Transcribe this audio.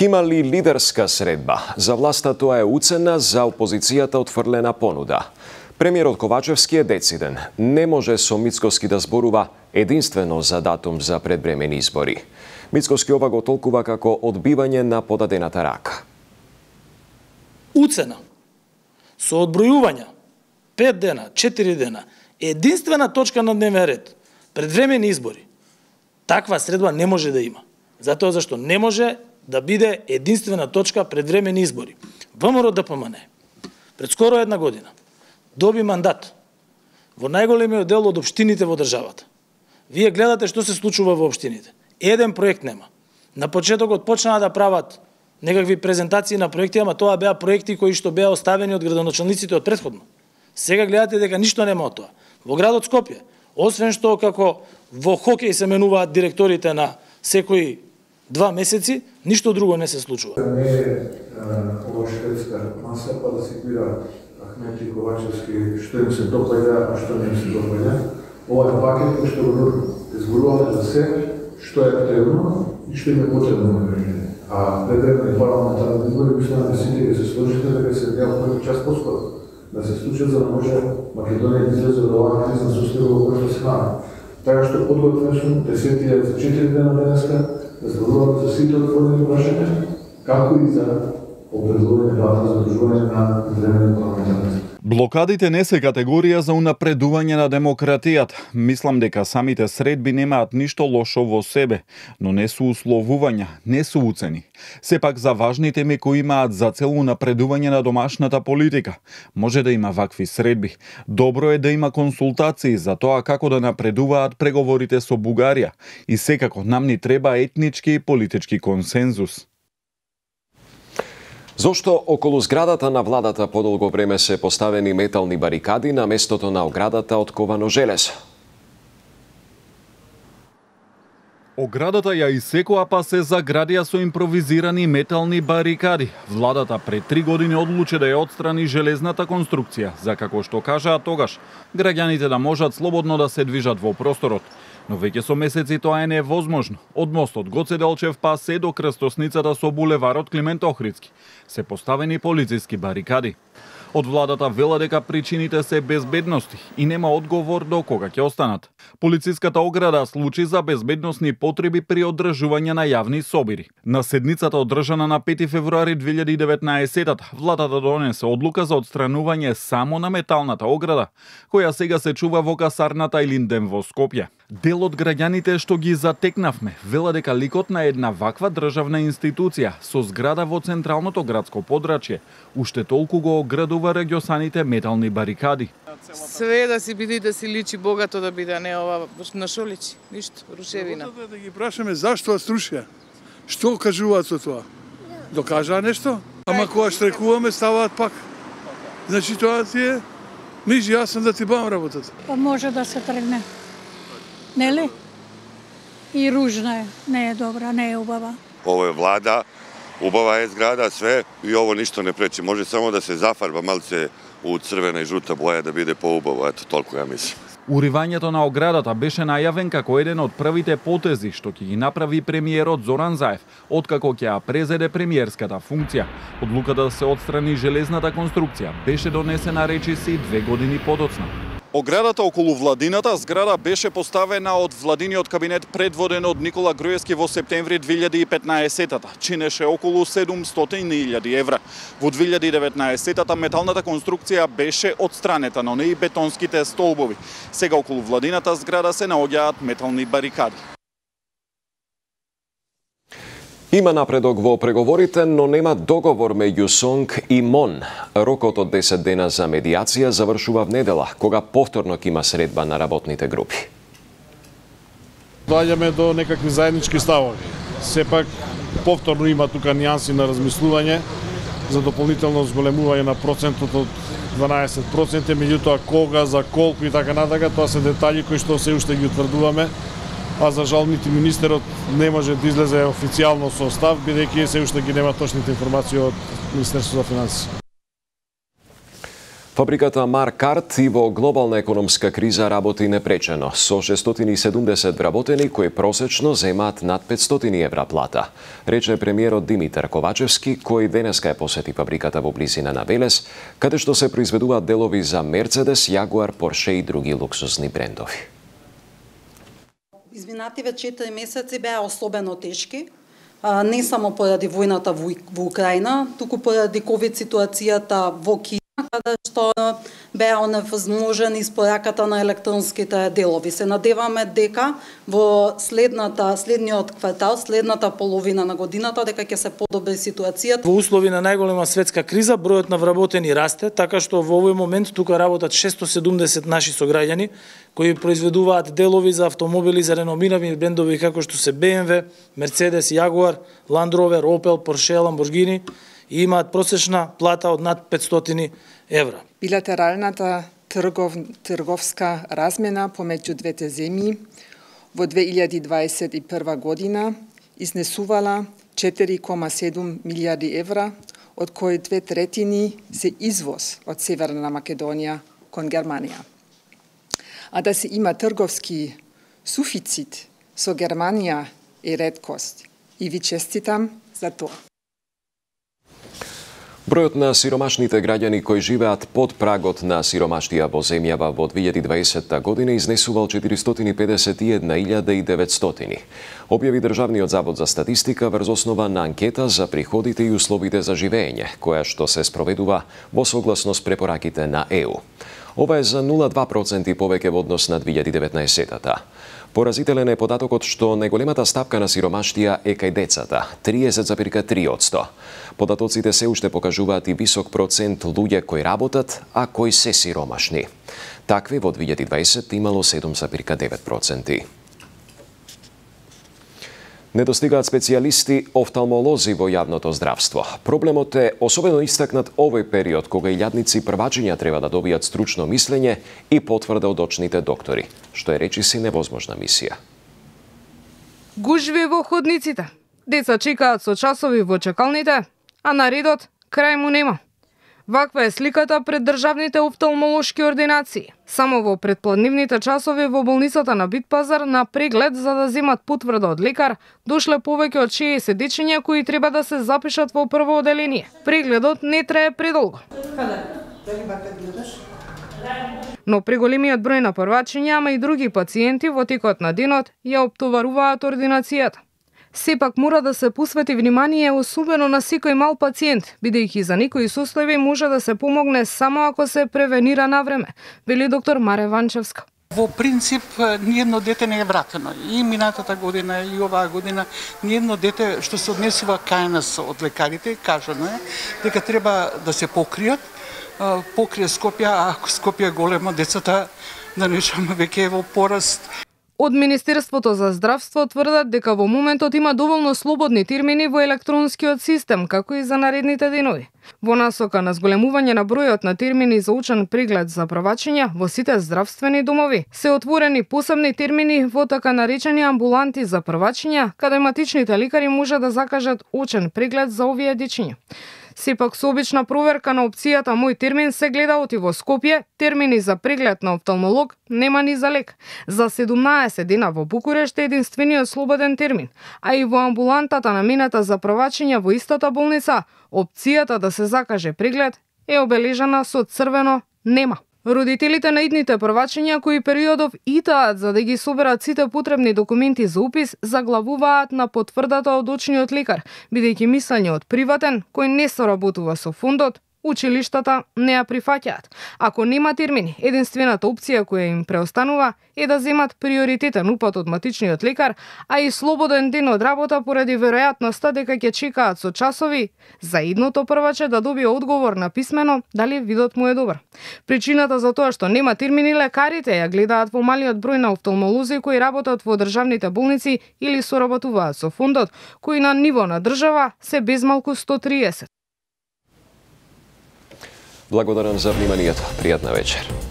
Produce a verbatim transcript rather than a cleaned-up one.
Има ли лидерска средба? За власта тоа е уцена, за опозицијата отфрлена понуда. Премиерот Ковачевски е дециден. Не може со Мицкоски да зборува единствено за датум за предвремени избори. Мицкоски ова го толкува како одбивање на подадената рака. Уцена со одбројување пет дена, четири дена, единствена точка на дневен ред, предвремени избори. Таква средба не може да има. Затоа зашто не може да биде единствена точка предвремени избори. ВМРО ДПМН пред скоро една година доби мандат во најголемиот дел од општините во државата. Вие гледате што се случува во општините. Еден проект нема. На почетокот почнаа да прават некакви презентации на проекти, ама тоа беа проекти кои што беа оставени од градоначалниците од претходно. Сега гледате дека ништо нема од тоа. Во градот Скопје, освен што како во хокеј се менуваат директорите на секои два месеци, ништо друго не се случува. Не е ова шведска маса па да се бира Ахмет и Ковачевски што им се допаѓа, а што не им се допаѓа. Ова е пакет кој што го изборуваме за се што е потребно и што им е потребно на граѓаните. А предвремени парламентарни избори мислам дека сите ќе се сложите дека се необходен час поскоро да се случат за да може Македонија да излезе од оваа кризна состојба во која се наоѓа. Така што подготвени сум десетти за четири дена денеска да зборуваме за сите отворени прашања, како и за определување дата за одржување на предвремени парламентарни избори. Блокадите не се категорија за унапредување на демократијата. Мислам дека самите средби немаат ништо лошо во себе, но не се условувања, не се уцени. Сепак за важни теми кои имаат за цел унапредување на домашната политика, може да има вакви средби. Добро е да има консултации за тоа како да напредуваат преговорите со Бугарија и секако нам ни треба етнички и политички консензус. Зошто околу зградата на владата подолго време се поставени метални барикади на местото на оградата од ковано железо? Оградата ја исекоа па се заградија со импровизирани метални барикади. Владата пред три години одлучи да ја отстрани железната конструкција, за како што кажаа тогаш, граѓаните да можат слободно да се движат во просторот. Но веќе со месеци тоа е невозможно. Од мостот Гоце Делчев па се до крстосницата со булеварот Климент Охридски се поставени полициски барикади. Од владата вела дека причините се безбедности и нема одговор до кога ќе останат. Полициската ограда служи за безбедносни потреби при одржување на јавни собири. На седницата одржана на пети февруари две илјади и деветнаесетта, владата донесе одлука за отстранување само на металната ограда, која сега се чува во касарната Илинден во Скопје. Дел од граѓаните што ги затекнавме вела дека ликот на една ваква државна институција со зграда во централното градско подрачје уште толку го оградува регјосаните метални барикади. Све да си биде да си личи богато да биде, не ова на шо личи, ништо, рушевина. Да ги прашаме зашто струшија? Што кажуваат со тоа? Докажаа нешто? Ама кога штрекуваме ставаат пак. Значи тоа ти е, мижи, јас сум да ти бавам работата. Па може да се тргне. Нели? И ружна е, не е добра, не е убава. Ово е влада, убава е зграда, све, и ово ништо не пречи. Може само да се зафарба малце у црвена и жута боја да биде поубаво, ето толку ја мислам. Уривањето на оградата беше најавен како еден од првите потези што ќе ги направи премиерот Зоран Заев, откако ќе ја презеде премиерската функција. Одлуката да се отстрани железната конструкција беше донесена речиси две години подоцна. Оградата околу владината зграда беше поставена од владиниот кабинет предводен од Никола Груевски во септември две илјади и петнаесетта. Чинеше околу седумстотини илјади евра. Во две илјади и деветнаесетта металната конструкција беше отстранета, но не и бетонските столбови. Сега околу владината зграда се наоѓаат метални барикади. Има напредок во преговорите, но нема договор меѓу СОНК и МОН. Рокот од десет дена за медиација завршува в недела, кога повторно ќе има средба на работните групи. Доаѓаме до некакви заеднички ставови. Сепак повторно има тука нијанси на размислување за дополнително зголемување на процентот од дванаесет проценти, меѓутоа кога, за колку и така натака, тоа се детали кои што се уште ги утврдуваме. А за жал нити министерот не може да излезе официјално со став, бидејќи се уште ги нема точните информации од Министерството за финансии. Фабриката Маркарт и во глобална економска криза работи непречено, со шестстотини и седумдесет вработени кои просечно земаат над петстотини евра плата, рече премиерот Димитар Ковачевски, кој денеска е посети фабриката во близина на Велес, каде што се произведуваат делови за Мерцедес, Јагуар, Порше и други луксузни брендови. Изминативе четири месеци беа особено тешки, не само поради војната во Украина, туку поради ковид ситуацијата во Кина, каде што беа оневозможени испораката на електронските делови. Се надеваме дека во следната, следниот квартал, следната половина на годината, дека ќе се подобри ситуацијата. Во услови на најголема светска криза, бројот на вработени расте, така што во овој момент тука работат шестстотини и седумдесет наши сограѓани, кои произведуваат делови за автомобили за реномирани брендови како што се Б М В, Мерцедес, Јагуар, Ланд Ровер, Опел, Порше, Ламборгини и имаат просечна плата од над петстотини евра. Билатералната тргов, трговска размена помеѓу двете земји во две илјади дваесет и прва година изнесувала четири кома седум милијарди евра, од кои две третини се извоз од Северна Македонија кон Германија. А да се има трговски суфицит со Германија е реткост и ви честитам за тоа. Бројот на сиромашните граѓани кои живеат под прагот на сиромаштија во земјава во две илјади и дваесетта година изнесувал четиристотини и педесет и една илјада и деветстотини. Објави Државниот завод за статистика врз основа на анкета за приходите и условите за живење, која што се спроведува во согласност препораките на Е У. Ова е за нула целу две проценти повеќе во однос на две илјади и деветнаесетта. Поразителен е податокот што најголемата стапка на сиромаштија е кај децата – триесет зарез три одсто. Податоците се уште покажуваат и висок процент луѓе кои работат, а кои се сиромашни. Такви во две илјади и дваесетта имало седум зарез девет проценти. Недостигаат специјалисти офталмолози во јавното здравство. Проблемот е особено истакнат овој период кога илјадници првачиња треба да добијат стручно мислење и потврда од очните доктори, што е речиси невозможна мисија. Гужви во ходниците. Деца чекаат со часови во чекалните, а на редот крај му нема. Ваква е сликата пред државните офталмолошки ординации. Само во предпладнивните часови во болницата на Битпазар на преглед за да земат потврда од лекар, дошле повеќе од шеесет дечиња кои треба да се запишат во прво оделение. Прегледот не трае предолго. Но преголемиот број на првачиња, ама и други пациенти во текот на денот ја оптоваруваат ординацијата. Сепак мора да се посвети внимание особено на секој мал пациент, бидејќи за некои состојби може да се помогне само ако се превенира на време, вели доктор Маре Ванчевска. Во принцип, ниедно дете не е вратено. И минатата година, и оваа година, ниедно дете што се однесува кај нас од лекарите, кажано е, дека треба да се покријат, покрие Скопје, а ако Скопје е големо, децата, да нешаме веќе во пораст. Од Министерството за здравство тврдат дека во моментот има доволно слободни термини во електронскиот систем, како и за наредните денови. Во насока на зголемување на бројот на термини за учен преглед за правачиња во сите здравствени домови, се отворени посебни термини во така наречени амбуланти за правачиња, каде матичните лекари може да закажат учен преглед за овие дечиња. Сепак со обична проверка на опцијата Мој термин се гледа оти во Скопје, термини за преглед на офталмолог нема ни за лек. За седумнаесет дена во Букурешт е единствениот слободен термин, а и во амбулантата намената за правачиња во истата болница, опцијата да се закаже преглед е обележана со црвено нема. Родителите на идните првачиња кои периодов итаат за да ги соберат сите потребни документи за упис, заглавуваат на потврдата од очниот лекар, бидејќи мислењето приватен кој не соработува со фондот, училиштата не ја прифаќаат. Ако нема термини, единствената опција која им преостанува е да земат приоритетен упат од матичниот лекар, а и слободен ден од работа поради веројатноста дека ќе чекаат со часови за идното прваче да добие одговор на писмено дали видот му е добар. Причината за тоа што нема термини лекарите ја гледаат во малиот број на офталмолози кои работат во државните болници или соработуваат со фондот, кои на ниво на држава се безмалку сто триесет. Благодарам за вниманието. Пријатна вечер.